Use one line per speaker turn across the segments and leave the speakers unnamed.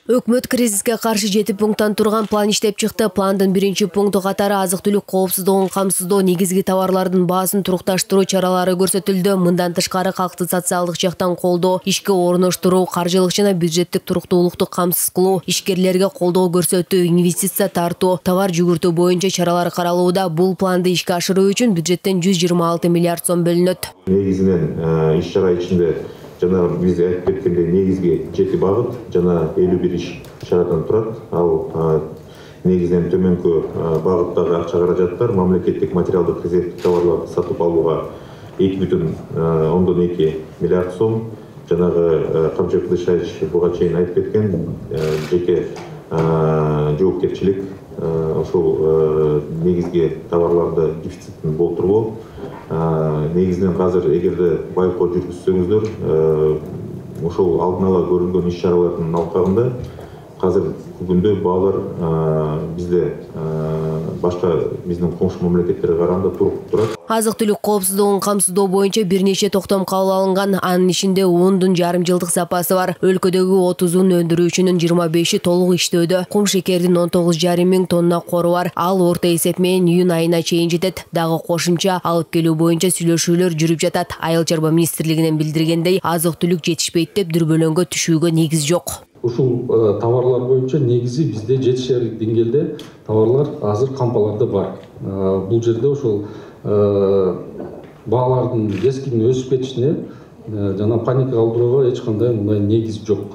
Өкмөт кризиске каршы 7 пункттан турган план иштеп чыкты. Пландын биринчи пункту катары азык-түлүк коопсуздугун камсыздоо, негизги товарлардын баасын турукташтыруу чаралары көрсөтүлдү. Мындан тышкары калкты социалдык жактан колдоо, ишке орноштуруу, каржылык жана бюджеттик туруктуулукту камсыз кылуу, ишкерлерге колдоо көрсөтүү, инвестиция тартуу, товар жүгүртүү боюнча чаралар каралууда. Бул планды ишке ашыруу үчүн бюджеттен 126 миллиард сом бөлүнөт.
Негизинен иш-чара ичинде жана биз айтып кеткендей негизги 7 багыт жана 51 иш-чарадан турат. Ал негизинен төмөнкү багыттагы акча каражаттар мамлекеттик материалдык резервдик товарларды сатып алууга 2,2 миллиард сом. Жанагы Камчы Кылычбаевич буга чейин айтып кеткен жеке жоопкерчилик ошол негизги товарларды дефицитин болтуруу. Негизинен азыр эгерде байкоо жүргүзсөңүздөр, ошол алдын ала көрүлгөн иш-чаралардын алкагында азыр күндө баалар бизде башка биздин коңшу мамлекеттерге караганда туруктуу турат.
Азык-түлүк коопсуздугун камсыздоо боюнча бир нече токтом кабыл алынган. Анын ичинде 10 жарым жылдык запасы бар. Өлкөдөгү 30 өндүрүүчүнүн 25 толук иштөөдө. Кум шекердин 19,5 миң тонна кору бар. Ал орто эсеп менен июнь айына чейин жетет. Дагы кошумча алып келүү боюнча сүйлөшүүлөр жүрүп жатат. Айыл чарба министрлигинен билдиргендей, азык-түлүк жетишпейт деп дүрбөлөңгө түшүүгө негиз жок.
Ушул товарлар боюнча негизи бизде жетишерлик деңгээлде товарлар азыр кампаларда бар. Бул жерде ошол баалардын кескин өсүп кетишине жана паника калтырууга эч кандай мындай негиз жок.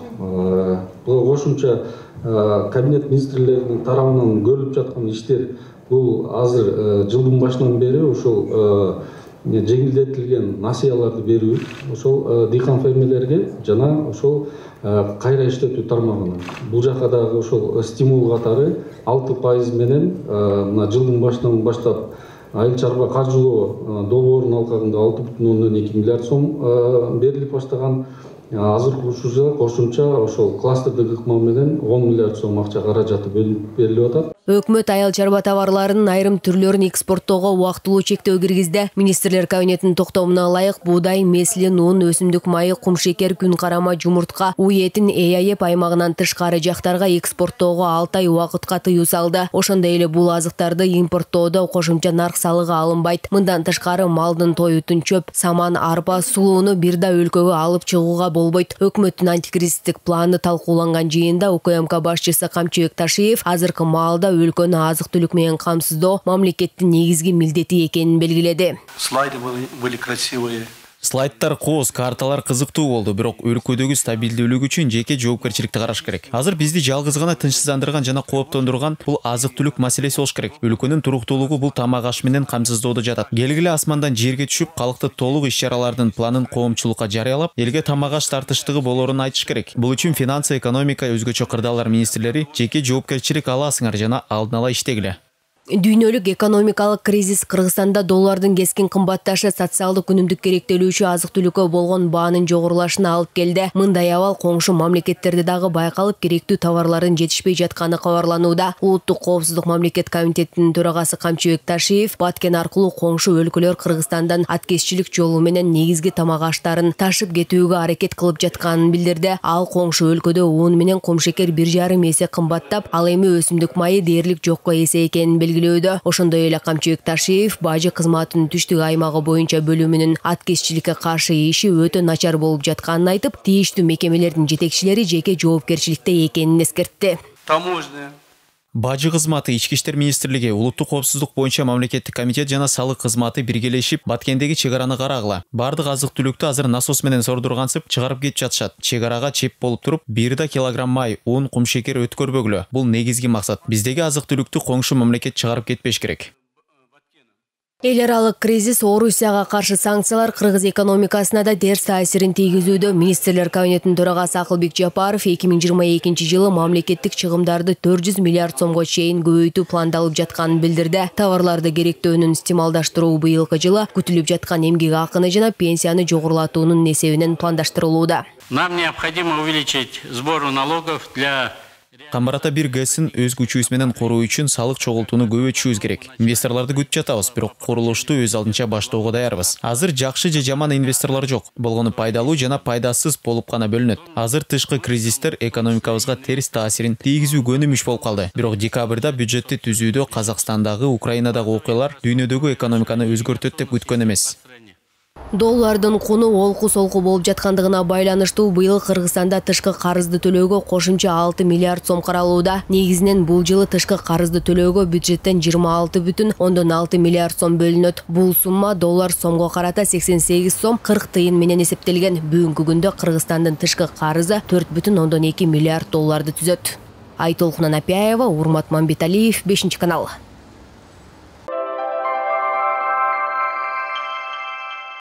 Буга кошумча кабинет министрлеринин тарабынан көрүлүп жаткан иштер бул азыр жылдын башынан бери ошол жеңилдетилген насыяларды берүү, ошол дыйкан фермерлерге жана ошол кайра иштетүү тармагына. Бул жака дагы ошол стимул катары 6% менен мына жылдын башынан баштап айыл чарба каржылоо долбоорунун алкагында 6,2 миллиард сом берилип баштаган. Азыркы учурда кошумча ошол кластердик ыкма менен 10 миллиард сом акча каражаты берилип атат.
Өкмөт айыл чарба товарларынын айрым түрлөрүн экспорттоого убактылуу чектөө киргизди. Министрлер кабинетинин токтомуна ылайык буудай, меслин, un, өсүмдүк майы, кум шекер, күн карама, жумуртка, уй этин ЭАЭП аймагынан тышкары жактарга экспорттоого 6 ай убакытка тыюу салды. Ошондой эле бул азыктарды импорттоодо кошумча нарк салыгы алынбайт. Мындан тышкары малдын тоютун, чөп, саман, арпа, сулууну бир да өлкөгө алып чыгууга болбойт. Өкмөттүн антикризистик планы талкууланган жыйында УКМК башчысы Камчыбек Ташиев азыркы маалда өлкөнү азык-түлүк менен камсыздоо мамлекеттин негизги милдети экенин белгиледи.
Слайды были красивые.
Слайдтар кооз, карталар кызыктуу болду, бирок өлкөдөгү стабилдүүлүк үчүн жеке жоопкерчиликти караш керек. Азыр бизди жалгыз гана тынчсыздандырган жана кооптондурган бул азык-түлүк маселеси болуш керек. Өлкөнүн туруктуулугу бул тамак аш менен камсыздоодо жатат. Келгиле асмандан жерге түшүп, калкты толук иш-чаралардын планын коомчулукка жарыялап, элге тамак аш тартыштыгы болоорун айтыш керек. Бул үчүн финансы, экономика, өзгөчө кырдаалар министрлери жеке жоопкерчилик аласыңар жана алдын ала иштегиле.
Дүйнөлүк экономикалык кризис Кыргызстанда доллардын кескин кымбатташы социалдык өнүмдүк керектелүүчү азык-түлүккө болгон баанын жогорулашына алып келди. Мындай абал коңшу мамлекеттерде дагы байкалып, керектүү товарлардын жетишпей жатканы кабарланууда. Улуттук коопсуздук мамлекет комитетинин төрагасы Камчыбек Ташиев Баткен аркылуу коңшу өлкөлөр Кыргызстандан аткезчилик жолу менен негизги тамак аштарын ташып кетүүгө аракет кылып жатканын билдирди. Ал коңшу өлкөдө un менен кум шекер 1,5 эсе кымбаттап, ал эми өсүмдүк майы дээрлик жокко эсе экенин белгиледи. Ошондой эле Камчыбек Ташиев бажы кызматынын түштүк аймагы боюнча бөлүмүнүн аткезчиликке каршы иши өтө начар болуп жатканын айтып, тийиштүү мекемелердин жетекчилери жеке жоопкерчиликте экенин эскертти.
Таможня.
Бажы кызматы, Ички иштер министрлиги, улуттук коопсуздук боюнча мамлекеттик комитет жана салык кызматы биргелешип Баткендеги чек араны карагыла. Бардык азык-түлүктү азыр насос менен сордургансып чыгарып кетип жатышат. Чек арага чеп болуп туруп, 1 килограмм май, un, кум шекер өткөрбөгүлө. Бул негизги максат. Биздеги азык-түлүктү коңшу мамлекет чыгарып кетпеш керек.
Эл аралык кризис, Орусияга каршы санкциялар Кыргыз экономикасына да терс таасирин тийгизүүдө. Министрлер кабинетинин төрагасы Акылбек Жапаров 2022 жылы мамлекеттик чыгымдарды 400 миллиард сомго чейин көбөйтүү пландалып жатканын билдирди. Товарларды керектөөнүн стималдаштыруу быйылкы жылы күтүлүп жаткан эмгек акыны жана пенсияны жогорулатуунун эсебинен пландаштырылууда.
Нам необходимо увеличить сбор налогов для
Камбар Ата 1 ГЭСин өз күчүбүз менен короо үчүн салык чогултууну көбөйтүшүбүз керек. Инвесторлорду күтүп жатабыз, бирок курулушту өз алдынча баштоого даярбыз. Азыр жакшы же жаман инвесторлор жок. Болгону пайдалуу жана пайдасыз болуп гана бөлүнөт. Азыр тышкы кризистер экономикабызга терс таасирин тийгизүү көнүмүш болуп калды. Бирок декабрда бюджетти түзүүдө Казакстандагы, Украинадагы окуялар дүйнөдөгү экономиканы өзгөртөт деп күткөн эмес.
Доллардын куну олку-солку болуп жаткандыгына байланыштуу быйыл Кыргызстанда тышкы карызды төлөөгө кошумча 6 миллиард сом каралууда. Негизинен бул жылы тышкы карызды төлөөгө бюджеттен 26,6 миллиард сом бөлүнөт. Бул сумма доллар сомго карата 88 сом 40 тыйын менен эсептелген. Бүгүнкү күндө Кыргызстандын тышкы карызы 4,2 миллиард долларды түзөт. Айтолкун Анапияева, Урмат Мамбеталиев, 5 канал.